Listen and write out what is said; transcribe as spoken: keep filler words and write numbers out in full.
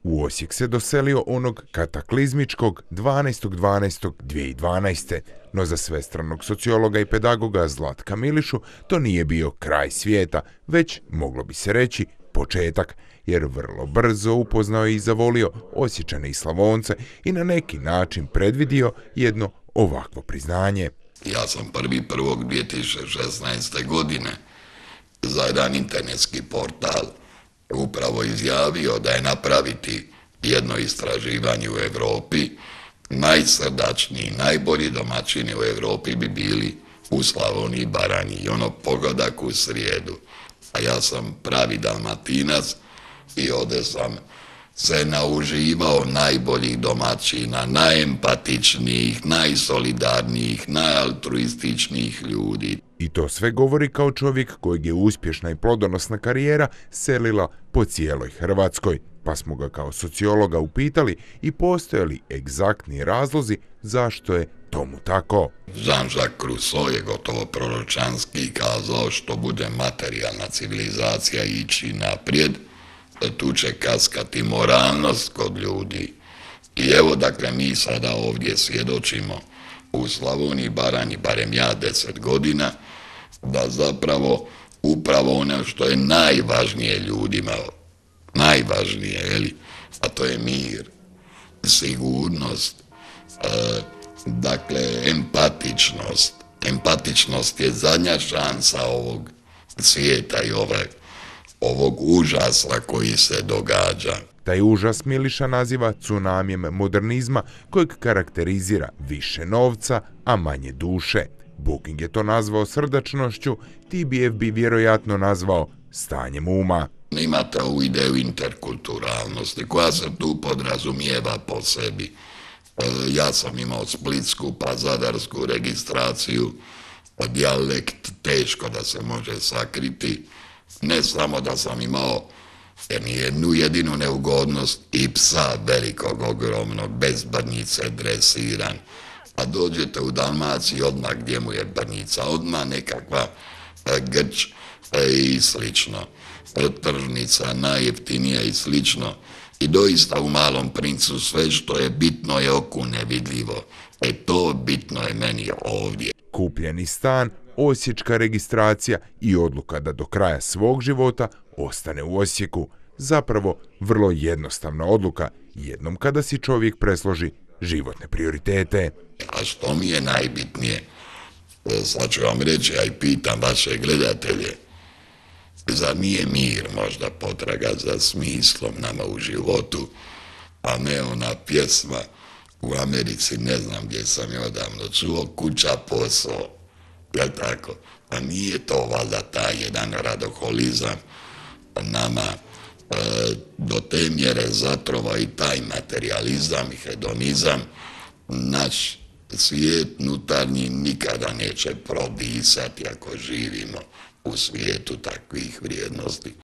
U Osijek se doselio onog kataklizmičkog dvanaestog dvanaestog dvije tisuće dvanaeste. No za svestranog sociologa i pedagoga Zlatka Milišu to nije bio kraj svijeta, već, moglo bi se reći, početak, jer vrlo brzo upoznao je i zavolio Osječane i Slavonce i na neki način predvidio jedno ovakvo priznanje. Ja sam prvi prvog dvije tisuće šesnaeste. godine za jedan internetski portal upravo izjavio da je napraviti jedno istraživanje u Europi. Najsrdačniji, najbolji domaćini u Europi bi bili u Slavoniji i Baranji i ono pogodak u srijedu. A ja sam pravi Dalmatinac i ovdje sam se nauživao najboljih domaćina, najempatičnijih, najsolidarnijih, najaltruističnijih ljudi. I to sve govori kao čovjek kojeg je uspješna i plodonosna karijera selila po cijeloj Hrvatskoj, pa smo ga kao sociologa upitali i postoje li egzaktni razlozi zašto je tomu tako. Jean-Jacques Rousseau je gotovo proročanski kazao što bude materijalna civilizacija ići naprijed, tu će kaskati moralnost kod ljudi. I evo dakle mi sada ovdje svjedočimo u Slavoniji i Baranji, barem ja deset godina, da zapravo upravo ono što je najvažnije ljudima, najvažnije, jeli, a to je mir, sigurnost, e, dakle empatičnost. Empatičnost je zadnja šansa ovog svijeta i ove, ovog užasa koji se događa. Taj užas Miliša naziva tsunamijem modernizma kojeg karakterizira više novca, a manje duše. Booking je to nazvao srdačnošću, T B F bi vjerojatno nazvao stanjem uma. Imate ovu ideju interkulturalnosti koja se tu podrazumijeva po sebi. Ja sam imao splitsku pa zadarsku registraciju, dijalekt teško da se može sakriti. Ne samo da sam imao jednu jedinu neugodnost i psa velikog, ogromnog, bez brnjice, dresiran. A dođete u Dalmaciji odmah gdje mu je brnjica, odmah nekakva grč i slično. Tržnica najjeftinija i slično. I doista u Malom princu sve što je bitno je oku nevidljivo. E to bitno je meni ovdje. Kupljeni stan, osječka registracija i odluka da do kraja svog života ostane u Osijeku. Zapravo vrlo jednostavna odluka, jednom kada si čovjek presloži životne prioritete. A što mi je najbitnije? Sad ću vam reći, ja i pitam vaše gledatelje, zar nije mir možda potraga za smislom nama u životu, a ne ona pjesma u Americi, ne znam gdje sam je odavno čuo, kuća, posao, jel tako? A nije to valjda taj jedan radoholizam nama e, do te mjere zatrova i taj materializam i hedonizam, naš svijet unutarnji nikada neće prodisati ako živimo u svijetu takvih vrijednosti.